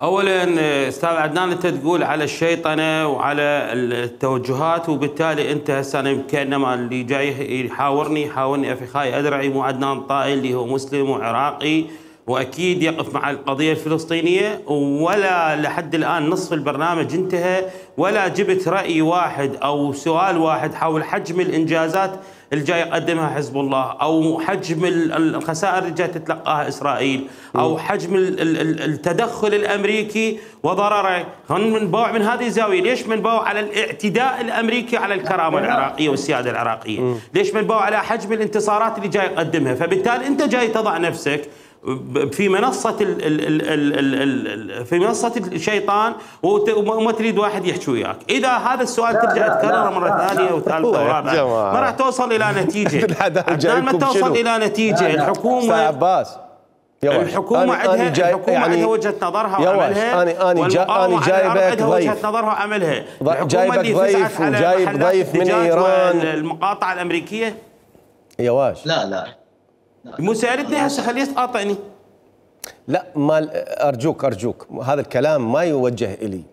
اولا استاذ عدنان انت تقول على الشيطنه وعلى التوجهات، وبالتالي انت هسه انا كانما اللي جاي يحاورني اخي ادرعي مو عدنان طائي اللي هو مسلم وعراقي واكيد يقف مع القضيه الفلسطينيه، ولا لحد الان نصف البرنامج انتهى ولا جبت راي واحد او سؤال واحد حول حجم الانجازات اللي جاي يقدمها حزب الله، او حجم الخسائر اللي جاي تتلقاها اسرائيل، او حجم التدخل الامريكي وضرره. خلينا نبوع من هذه الزاويه، ليش منبوع على الاعتداء الامريكي على الكرامه العراقيه والسياده العراقيه؟ ليش منبوع على حجم الانتصارات اللي جاي يقدمها؟ فبالتالي انت جاي تضع نفسك في منصة الشيطان وما تريد واحد يحكي وياك. إذا هذا السؤال ترجع تكرره مرة ثانية وثالثة ورابعة ما راح توصل إلى نتيجة. ما توصل إلى نتيجة. الحكومة عندها وجهة نظرها وعملها، أنا جايبك وجهة نظرها وعملها. جايبك ضيف وجايب ضيف من إيران المقاطعة الأمريكية. يواش لا مو سألتني هسه خليه تقاطعني. لا ما ارجوك هذا الكلام ما يوجه الي.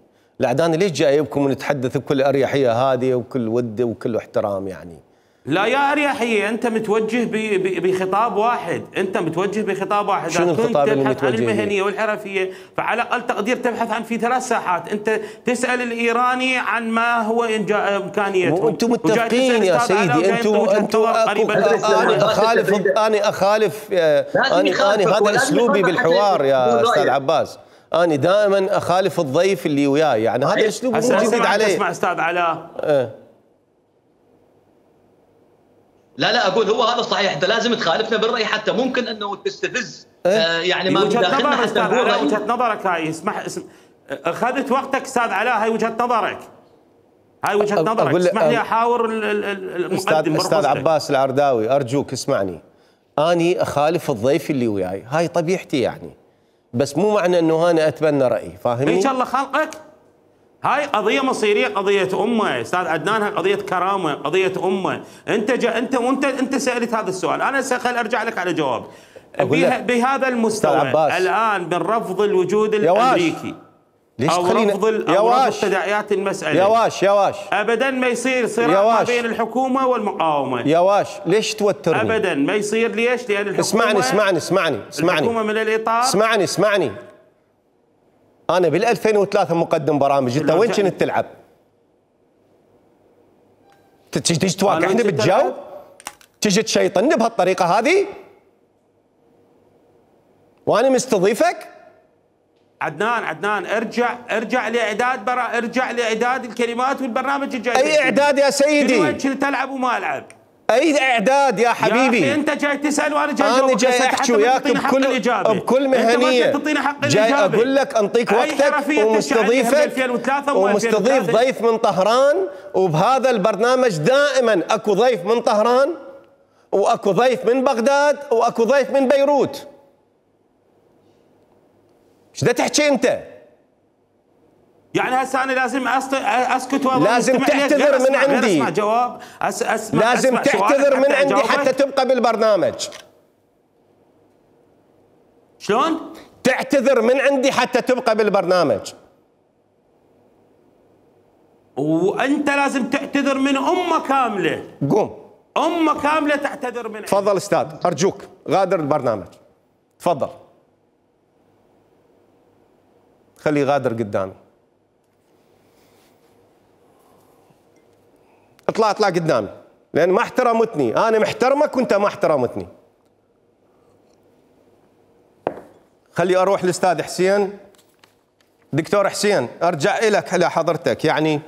العداني ليش جايبكم ونتحدث بكل اريحيه هذه وكل ود وكل احترام يعني؟ لا يا اريحيه، انت متوجه بخطاب واحد، شنو الخطاب اللي متوجه؟ عن المهنيه والحرفيه، فعلى اقل تقدير تبحث عن في 3 ساحات، انت تسال الايراني عن ما هو امكانيتهم. وانتم متفقين يا سيدي، انتم انا اخالف هذا اسلوبي بالحوار يا استاذ عباس. أنا دائما أخالف الضيف اللي وياي، يعني هذا أسلوب مو جديد عليه. اسمع أستاذ علاء، لا اقول هو هذا صحيح، انت لازم تخالفنا بالراي حتى ممكن انه تستفز يعني ما داخلنا حتى نقول وجهه نظرك. هاي اسمح اخذت وقتك استاذ علاء، هاي وجهه نظرك، اسمح لي احاور المقدم. استاذ عباس العرداوي ارجوك اسمعني، اني اخالف الضيف اللي وياي، هاي طبيعتي يعني، بس مو معنى انه انا اتبنى رايي، فاهمني؟ ان شاء الله خلقك. هاي قضية مصيرية، قضية أمة أستاذ عدنان، هاي قضية كرامة، قضية أمة. أنت سألت هذا السؤال، أنا خل أرجع لك على جواب. بهذا المستوى الآن من رفض الوجود الأمريكي ليش أو رفض تداعيات المسألة. يا واش أبدا ما يصير صراع ما بين الحكومة والمقاومة. يا واش ليش توترني؟ أبدا ما يصير. ليش؟ لأن الحكومة اسمعني الحكومة من الإطار. اسمعني أنا بال 2003 مقدم برامج، أنت وين كنت تلعب؟ تجي تواقعني بالجو؟ تجي تشيطني بهالطريقة هذه؟ وأنا مستضيفك؟ عدنان ارجع لاعداد الكلمات والبرنامج الجاي. اي اعداد يا سيدي؟ وين كنت العب وما العب؟ اي اعداد يا حبيبي؟ يا اخي انت جاي تسال وانا جاي احكي وياك بكل مهنيه. انت ما تعطيني حق جاي اقول لك انطيك وقتك ومستضيف ضيف من طهران، وبهذا البرنامج دائما اكو ضيف من طهران واكو ضيف من بغداد واكو ضيف من بيروت. ايش دا تحكي انت؟ يعني هسه انا لازم اسكت لازم تعتذر من عندي. اسمع جواب. لازم تعتذر من عندي حتى تبقى بالبرنامج. شلون؟ تعتذر من عندي حتى تبقى بالبرنامج. وانت لازم تعتذر من امه كامله. قوم. امه كامله تعتذر من. تفضل استاذ، ارجوك غادر البرنامج. تفضل. خليه غادر قدامي. اطلع قدامي، لان ما احترمتني. انا محترمك وانت ما احترمتني. خلي اروح للاستاذ حسين. دكتور حسين، ارجع لك لحضرتك. يعني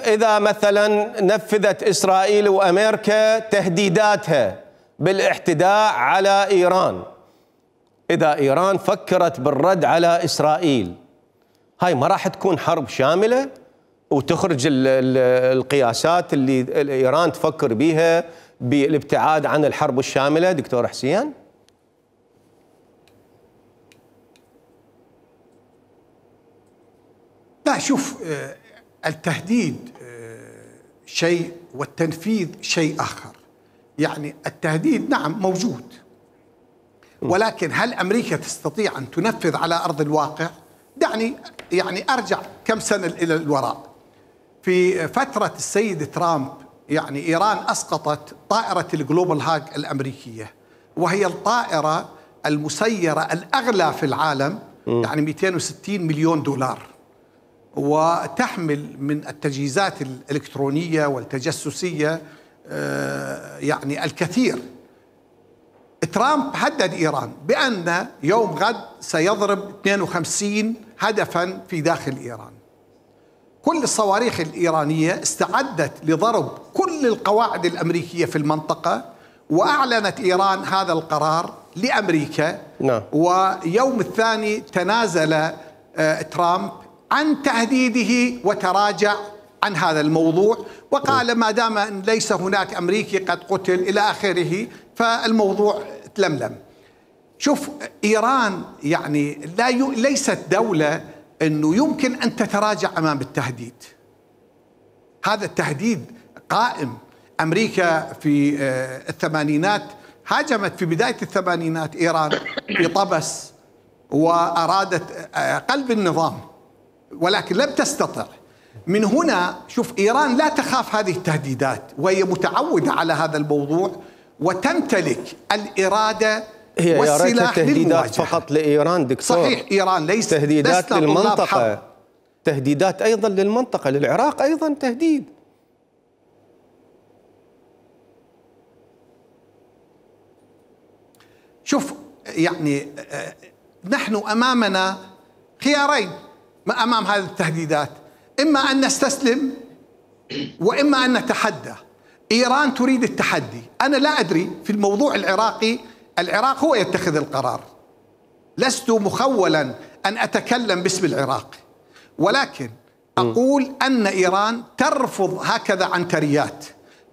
اذا مثلا نفذت اسرائيل وامريكا تهديداتها بالاعتداء على ايران، إذا إيران فكرت بالرد على إسرائيل، هاي ما راح تكون حرب شاملة وتخرج القياسات اللي إيران تفكر بيها بالابتعاد عن الحرب الشاملة؟ دكتور حسين؟ لا، شوف، التهديد شيء والتنفيذ شيء آخر. يعني التهديد نعم موجود، ولكن هل أمريكا تستطيع أن تنفذ على أرض الواقع؟ دعني يعني أرجع كم سنة إلى الوراء. في فترة السيد ترامب يعني إيران أسقطت طائرة الجلوبال هاج الأمريكية، وهي الطائرة المسيرة الأغلى في العالم، يعني 260 مليون دولار، وتحمل من التجهيزات الإلكترونية والتجسسية يعني الكثير. ترامب هدد إيران بأن يوم غد سيضرب 52 هدفا في داخل إيران. كل الصواريخ الإيرانية استعدت لضرب كل القواعد الأمريكية في المنطقة، وأعلنت إيران هذا القرار لأمريكا. ويوم الثاني تنازل ترامب عن تهديده وتراجع عن هذا الموضوع، وقال ما دام ليس هناك أمريكي قد قتل إلى آخره فالموضوع تلملم. شوف، إيران يعني ليست دولة أنه يمكن أن تتراجع أمام التهديد. هذا التهديد قائم. أمريكا في الثمانينات هاجمت في بداية الثمانينات إيران في طبس وأرادت قلب النظام، ولكن لم تستطع. من هنا شوف، إيران لا تخاف هذه التهديدات، وهي متعودة على هذا الموضوع وتمتلك الإرادة والسلاح تهديدات فقط لإيران دكتور. صحيح، إيران ليست تهديدات للمنطقة، تهديدات أيضا للمنطقة، للعراق أيضا تهديد. شوف، يعني نحن أمامنا خيارين أمام هذه التهديدات، إما أن نستسلم وإما أن نتحدى. إيران تريد التحدي. أنا لا أدري في الموضوع العراقي، العراق هو يتخذ القرار، لست مخولا أن أتكلم باسم العراق، ولكن أقول أن إيران ترفض هكذا عنتريات،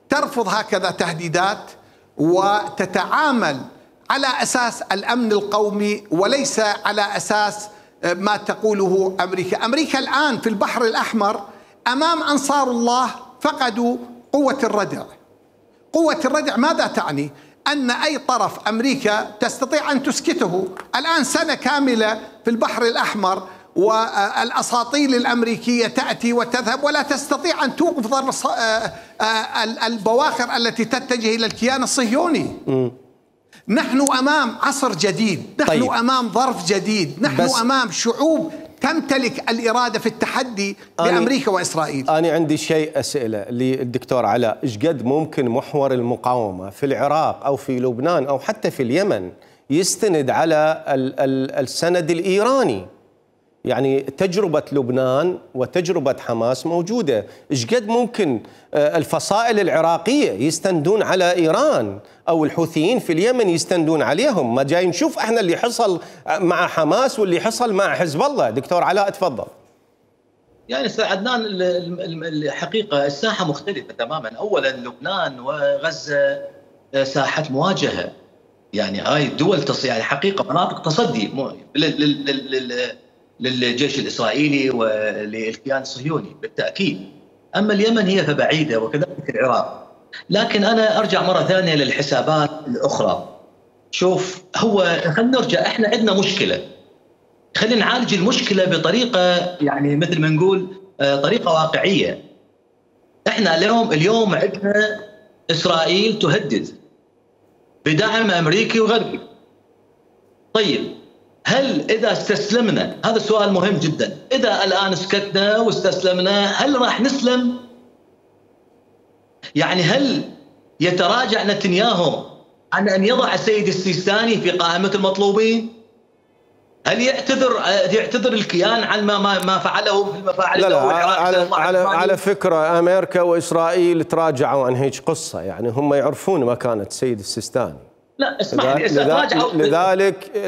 ترفض هكذا تهديدات، وتتعامل على أساس الأمن القومي وليس على أساس ما تقوله أمريكا. أمريكا الآن في البحر الأحمر أمام أنصار الله فقدوا قوة الردع. قوة الردع ماذا تعني؟ أن أي طرف أمريكا تستطيع أن تسكته. الآن سنة كاملة في البحر الأحمر والأساطيل الأمريكية تأتي وتذهب ولا تستطيع أن توقف ضرب البواخر التي تتجه إلى الكيان الصهيوني. نحن أمام عصر جديد، نحن أمام ظرف جديد، نحن أمام شعوب تمتلك الإرادة في التحدي بأمريكا وإسرائيل. أنا عندي شيء أسئلة للدكتور علاء، إيش قد ممكن محور المقاومة في العراق أو في لبنان أو حتى في اليمن يستند على السند الإيراني؟ يعني تجربة لبنان وتجربة حماس موجودة، إيش قد ممكن الفصائل العراقية يستندون على إيران أو الحوثيين في اليمن يستندون عليهم؟ ما جاي نشوف احنا اللي حصل مع حماس واللي حصل مع حزب الله. دكتور علاء تفضل. يعني استاذ عدنان، الحقيقة الساحة مختلفة تماما. أولا لبنان وغزة ساحة مواجهة، يعني هاي الدول يعني حقيقة مناطق تصدي للجيش الإسرائيلي وللكيان الصهيوني بالتأكيد. أما اليمن هي فبعيدة وكذلك العراق. لكن أنا أرجع مرة ثانية للحسابات الأخرى. شوف، خلينا نرجع، إحنا عندنا مشكلة، خلينا نعالج المشكلة بطريقة يعني مثل ما نقول طريقة واقعية. إحنا اليوم عندنا إسرائيل تهدد بدعم أمريكي وغربي. طيب، هل إذا استسلمنا، هذا سؤال مهم جدا، إذا الآن سكتنا واستسلمنا هل راح نسلم؟ يعني هل يتراجع نتنياهو عن أن يضع السيد السيستاني في قائمة المطلوبين؟ هل يعتذر الكيان عن ما فعله في المفاعل؟ لا على فكرة أمريكا وإسرائيل تراجعوا عن هيك قصة، يعني هم يعرفون مكانة السيد السيستاني. لا اسمح لي،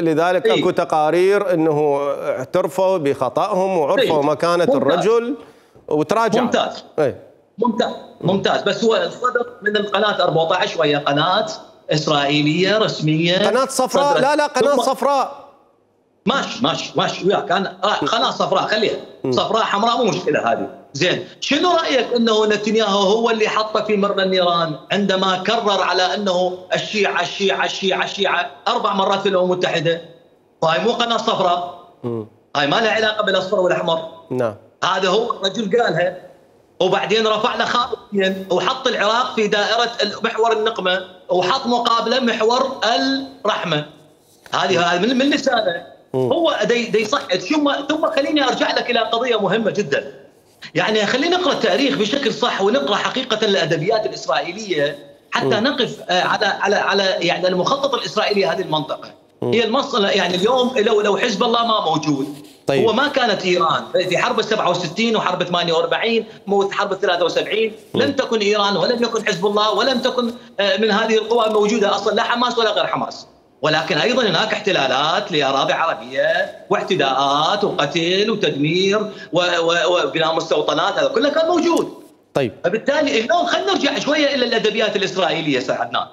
لذلك اكو تقارير انه اعترفوا بخطأهم وعرفوا مكانة الرجل وتراجعوا. ممتاز. ممتاز. بس هو صدر من القناة 14 وهي قناة إسرائيلية رسمية، قناة صفراء. لا قناة صفراء. ماشي وياك انا. قناة صفراء خليها صفراء حمراء مو مشكلة هذه. زين، شنو رأيك انه نتنياهو هو اللي حطه في مرمى النيران عندما كرر على انه الشيعة 4 مرات في الأمم المتحدة؟ هاي مو قناة صفراء، هاي ما لها علاقة بالأصفر والأحمر. نعم، هذا هو الرجل قالها، وبعدين رفع له خاطئين وحط العراق في دائرة محور النقمة وحط مقابله محور الرحمة. هذه من لسانه هو دي يصعد. ثم خليني ارجع لك الى قضيه مهمه جدا. يعني خلينا نقرا التاريخ بشكل صح ونقرا حقيقه الادبيات الاسرائيليه حتى نقف على يعني المخطط الاسرائيلي هذه المنطقه. هي المنطقه يعني اليوم لو حزب الله ما موجود، طيب. هو ما كانت ايران في حرب 67 وحرب 48 وحرب 73 لم تكن ايران ولم يكن حزب الله ولم تكن من هذه القوى موجوده اصلا، لا حماس ولا غير حماس. ولكن ايضا هناك احتلالات لاراضي عربيه واعتداءات وقتل وتدمير وبناء مستوطنات، هذا كله كان موجود. طيب فبالتالي اليوم خلينا نرجع شويه الى الادبيات الاسرائيليه استاذ عدنان.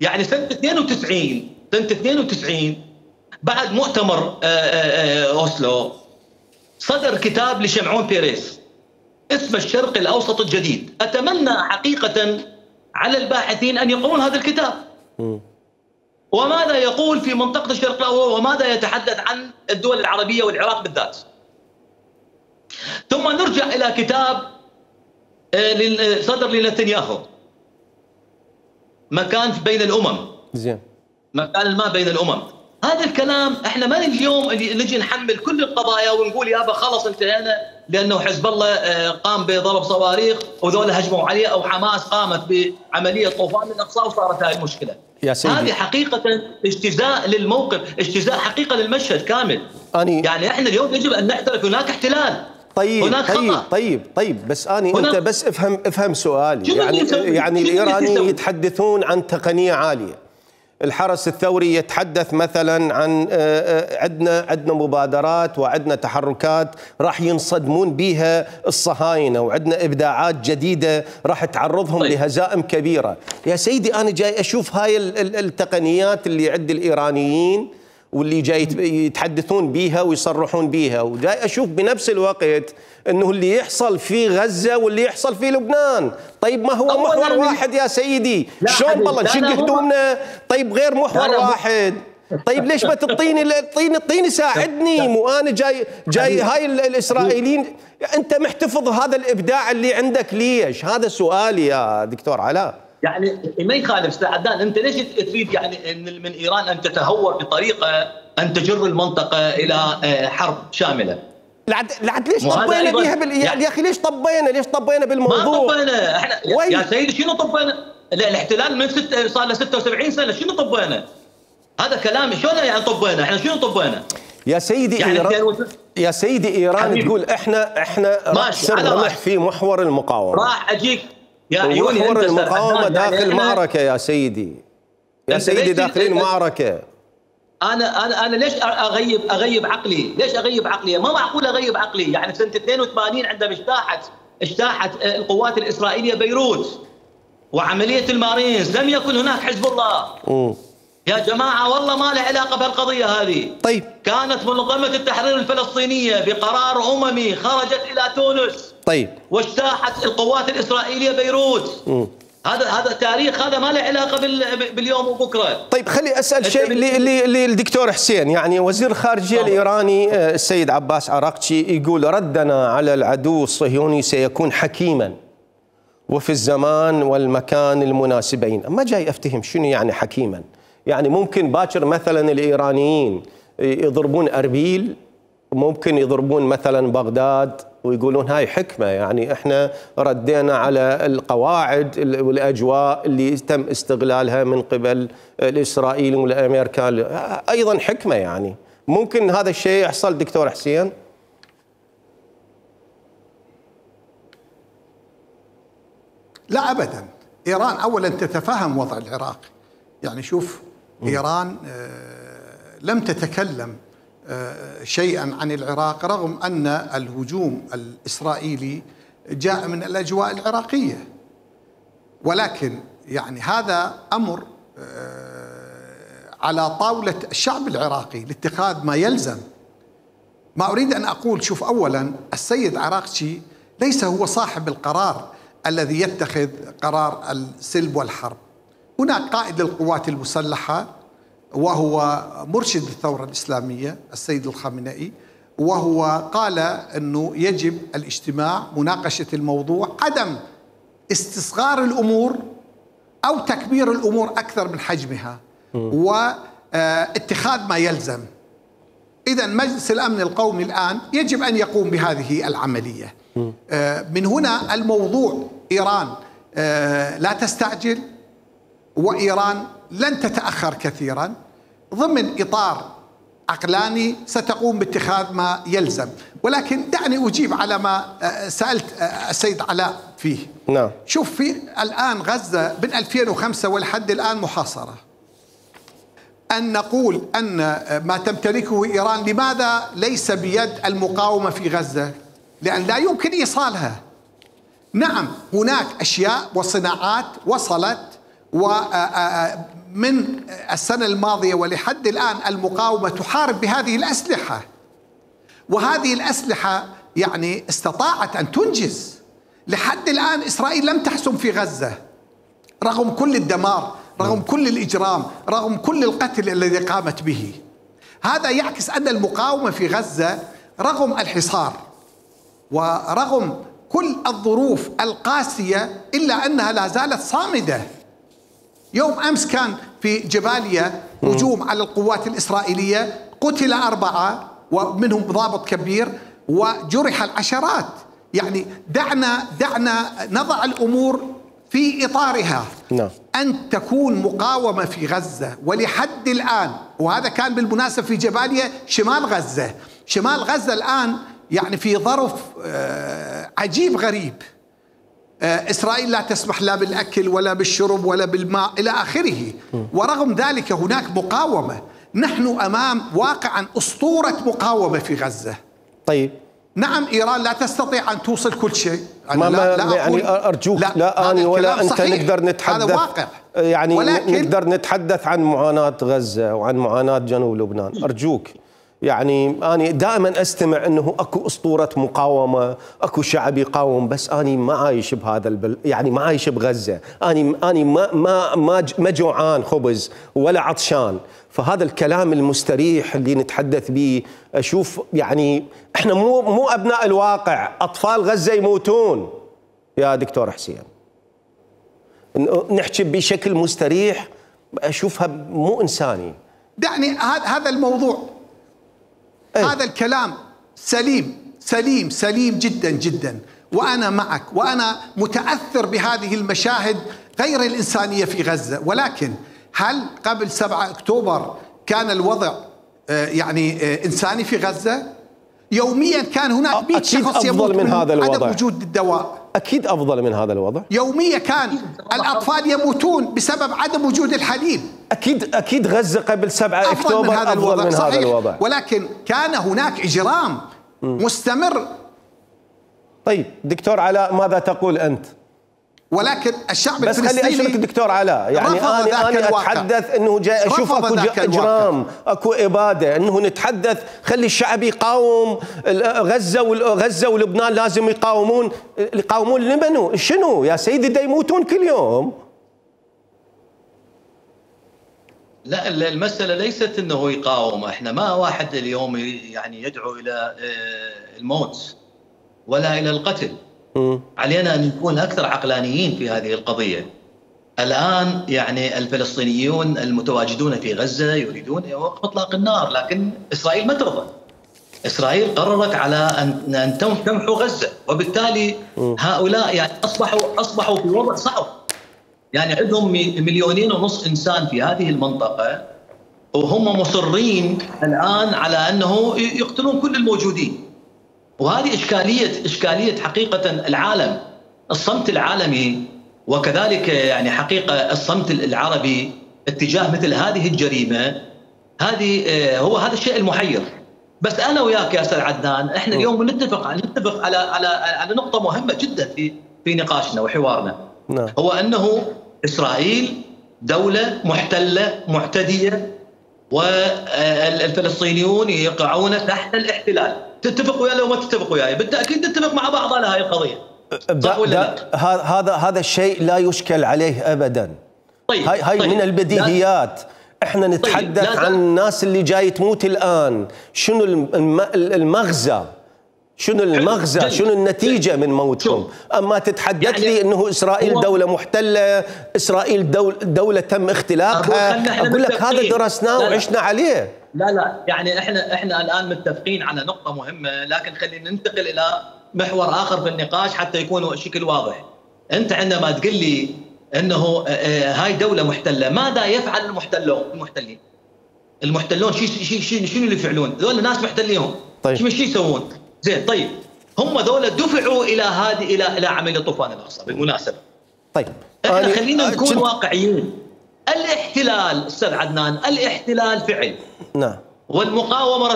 يعني سنه 92 بعد مؤتمر اوسلو صدر كتاب لشمعون بيريز اسمه الشرق الاوسط الجديد. اتمنى حقيقه على الباحثين ان يقرون هذا الكتاب. وماذا يقول في منطقة الشرق الأوسط وماذا يتحدث عن الدول العربية والعراق بالذات. ثم نرجع إلى كتاب صدر لنتنياهو مكان بين الأمم. زين. مكان الماء بين الأمم. هذا الكلام احنا ما اليوم نجي نحمل كل القضايا ونقول يابا خلص انتهينا لانه حزب الله قام بضرب صواريخ وذول هجموا عليه او حماس قامت بعمليه طوفان الاقصى وصارت هاي المشكله. يا سيدي. هذه حقيقه اجتزاء للموقف، اجتزاء حقيقه للمشهد كامل. يعني احنا اليوم يجب ان نعترف هناك احتلال. طيب هناك خطأ. طيب بس انت بس افهم سؤالي. يعني الايرانيين يتحدثون عن تقنيه عاليه. الحرس الثوري يتحدث مثلا عن عندنا مبادرات وعندنا تحركات راح ينصدمون بها الصهاينه وعندنا ابداعات جديده راح تعرضهم لهزائم كبيره. يا سيدي انا جاي اشوف هاي التقنيات اللي عند الايرانيين واللي جاي يتحدثون بيها ويصرحون بيها، وجاي أشوف بنفس الوقت أنه اللي يحصل في غزة واللي يحصل في لبنان. طيب ما هو محور واحد يا سيدي؟ شلون بالله نشق هدومنا؟ طيب غير محور واحد. طيب ليش ما تعطيني ساعدني، مو انا جاي هاي الاسرائيليين انت محتفظ هذا الابداع اللي عندك ليش؟ هذا سؤالي يا دكتور علاء. يعني ما يخالف استاذ عدنان، انت ليش تريد يعني من ايران ان تتهور بطريقه ان تجر المنطقه الى حرب شامله؟ لعد ليش طبينا بيها يا اخي ليش طبينا بالموضوع؟ ما طبينا احنا يا سيدي، شنو طبينا؟ الاحتلال من صار له 76 سنه، شنو طبينا؟ هذا كلام شلون يعني طبينا؟ احنا شنو طبينا؟ يا سيدي يعني يا سيدي ايران تقول احنا راس الرمح في محور المقاومه. راح اجيك يا عيوني، محور المقاومه داخل معركه يا سيدي. يا سيدي داخلين معركه. انا ليش اغيب عقلي؟ ليش اغيب عقلي؟ ما معقول اغيب عقلي. يعني سنه 82 عندما اجتاحت القوات الاسرائيليه بيروت وعمليه المارينز، لم يكن هناك حزب الله. يا جماعة والله ما له علاقة بهالقضية هذه. طيب كانت منظمة التحرير الفلسطينية بقرار أممي خرجت إلى تونس. طيب واجتاحت القوات الإسرائيلية بيروت. هذا تاريخ، هذا ما له علاقة باليوم وبكرة. طيب خلي أسأل شيء للدكتور حسين. يعني وزير الخارجية الإيراني السيد عباس عراقتشي يقول ردنا على العدو الصهيوني سيكون حكيما وفي الزمان والمكان المناسبين. ما جاي أفتهم شنو يعني حكيما. يعني ممكن باكر مثلا الإيرانيين يضربون أربيل، ممكن يضربون مثلا بغداد ويقولون هاي حكمة، يعني احنا ردينا على القواعد والأجواء اللي تم استغلالها من قبل الإسرائيليين والأمريكان، أيضا حكمة. يعني ممكن هذا الشيء يحصل دكتور حسين؟ لا أبدا. إيران أولا تتفهم وضع العراق. يعني شوف إيران لم تتكلم شيئا عن العراق رغم أن الهجوم الإسرائيلي جاء من الأجواء العراقية، ولكن يعني هذا أمر على طاولة الشعب العراقي لاتخاذ ما يلزم. ما أريد أن أقول، شوف أولا السيد عراقتشي ليس هو صاحب القرار الذي يتخذ قرار السلب والحرب. هناك قائد للقوات المسلحة وهو مرشد الثورة الإسلامية السيد الخامنئي، وهو قال أنه يجب الاجتماع، مناقشة الموضوع، عدم استصغار الأمور أو تكبير الأمور أكثر من حجمها، واتخاذ ما يلزم. إذن مجلس الأمن القومي الآن يجب أن يقوم بهذه العملية. من هنا الموضوع إيران لا تستعجل، وإيران لن تتأخر كثيرا، ضمن إطار عقلاني ستقوم باتخاذ ما يلزم. ولكن دعني أجيب على ما سألت السيد علاء فيه. نعم. شوف، في الآن غزة من 2005 ولحد الآن محاصرة. أن نقول أن ما تمتلكه إيران لماذا ليس بيد المقاومة في غزة؟ لأن لا يمكن إيصالها. نعم هناك أشياء وصناعات وصلت، ومن السنة الماضية ولحد الآن المقاومة تحارب بهذه الأسلحة، وهذه الأسلحة يعني استطاعت أن تنجز. لحد الآن إسرائيل لم تحسم في غزة رغم كل الدمار، رغم كل الإجرام، رغم كل القتل الذي قامت به. هذا يعكس أن المقاومة في غزة رغم الحصار ورغم كل الظروف القاسية إلا أنها لا زالت صامدة. يوم أمس كان في جباليا هجوم على القوات الإسرائيلية، قتل 4 ومنهم ضابط كبير وجرح العشرات. يعني دعنا نضع الأمور في إطارها. أن تكون مقاومة في غزة ولحد الآن، وهذا كان بالمناسبة في جباليا شمال غزة. شمال غزة الآن يعني في ظرف عجيب غريب. إسرائيل لا تسمح لا بالأكل ولا بالشرب ولا بالماء إلى آخره، ورغم ذلك هناك مقاومة. نحن أمام واقعا أسطورة مقاومة في غزة. طيب نعم إيران لا تستطيع أن توصل كل شيء. لا يعني أرجوك لا أنا ولا أنت نقدر نتحدث. هذا واقع. يعني نقدر نتحدث عن معاناة غزة وعن معاناة جنوب لبنان. أرجوك، يعني أنا دائما أستمع أنه أكو أسطورة مقاومة، أكو شعب يقاوم، بس أنا ما عايش بهذا يعني ما عايش بغزة، أنا ما جوعان خبز ولا عطشان. فهذا الكلام المستريح اللي نتحدث به، أشوف يعني إحنا مو أبناء الواقع، أطفال غزة يموتون يا دكتور حسين. نحكي بشكل مستريح، أشوفها مو إنساني. دعني هذا الموضوع، هذا الكلام سليم جدا جدا، وأنا معك، وأنا متأثر بهذه المشاهد غير الإنسانية في غزة. ولكن هل قبل 7 أكتوبر كان الوضع يعني إنساني في غزة؟ يوميا كان هناك 100 شخص يموت من عدم وجود الدواء. أكيد أفضل من هذا الوضع. يوميا كان الأطفال يموتون بسبب عدم وجود الحليب. أكيد غزة قبل 7 أكتوبر أفضل من هذا الوضع. ولكن كان هناك إجرام مستمر. طيب دكتور علاء، ماذا تقول أنت؟ ولكن الشعب بس خلي أشرك دكتور علاء، يعني أنا أتحدث أنه جاي أشوف أكو إجرام، أكو إبادة، أنه نتحدث خلي الشعب يقاوم. غزة ولبنان لازم يقاومون لمنو؟ شنو يا سيدي؟ دا يموتون كل يوم. لا، المسألة ليست أنه يقاوم. إحنا ما واحد اليوم يعني يدعو إلى الموت ولا إلى القتل. علينا أن نكون أكثر عقلانيين في هذه القضية. الآن يعني الفلسطينيون المتواجدون في غزة يريدون وقف إطلاق النار، لكن إسرائيل ما ترضى. إسرائيل قررت على أن تمحو غزة، وبالتالي هؤلاء يعني أصبحوا في وضع صعب. يعني عندهم 2.5 مليون إنسان في هذه المنطقة، وهم مصرين الآن على أنه يقتلون كل الموجودين. وهذه إشكالية حقيقة العالم، الصمت العالمي، وكذلك يعني حقيقة الصمت العربي اتجاه مثل هذه الجريمة. هذا الشيء المحير. بس أنا وياك يا أستاذ عدنان، إحنا اليوم نتفق على نقطة مهمة جدا في نقاشنا وحوارنا. هو أنه إسرائيل دولة محتلة معتدية، والفلسطينيون يقعون تحت الاحتلال. تتفق وياي لو ما تتفق وياي؟ بالتأكيد نتفق مع بعض على هذه القضية. هذا الشيء لا يشكل عليه أبدا. هاي من البديهيات. احنا نتحدث عن الناس اللي جاي تموت الآن. شنو المغزى؟ شنو النتيجة من موتهم؟ أما تتحدث يعني لي أنه إسرائيل دولة محتلة، إسرائيل دولة تم اختلاقها، أقول لك هذا درسناه وعشنا عليه. لا يعني احنا الآن متفقين على نقطة مهمة، لكن خلينا ننتقل إلى محور آخر في النقاش حتى يكون الشكل واضح. أنت عندما تقول لي أنه هاي دولة محتلة، ماذا يفعل المحتلون؟ شنو اللي يفعلون؟ ذول ناس محتليهم. طيب شو يسوون؟ زين، طيب هم ذولا دفعوا الى عمليه طوفان الاقصى بالمناسبه. طيب احنا خلينا نكون واقعيين. الاحتلال استاذ عدنان، الاحتلال فعل، نعم، والمقاومه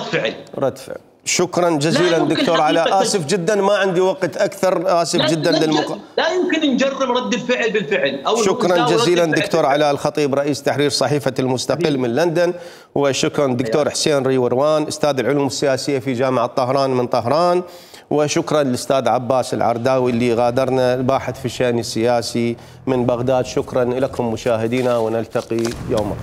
رد فعل. شكرا جزيلا دكتور علاء. اسف جدا ما عندي وقت اكثر، اسف جدا لا يمكن نجرب رد الفعل بالفعل. شكرا جزيلا دكتور علاء الخطيب رئيس تحرير صحيفة المستقل من لندن، وشكرا دكتور حسين ريوروان استاذ العلوم السياسية في جامعة طهران من طهران، وشكرا للاستاذ عباس العرداوي اللي غادرنا الباحث في الشأن السياسي من بغداد. شكرا لكم مشاهدينا، ونلتقي يوم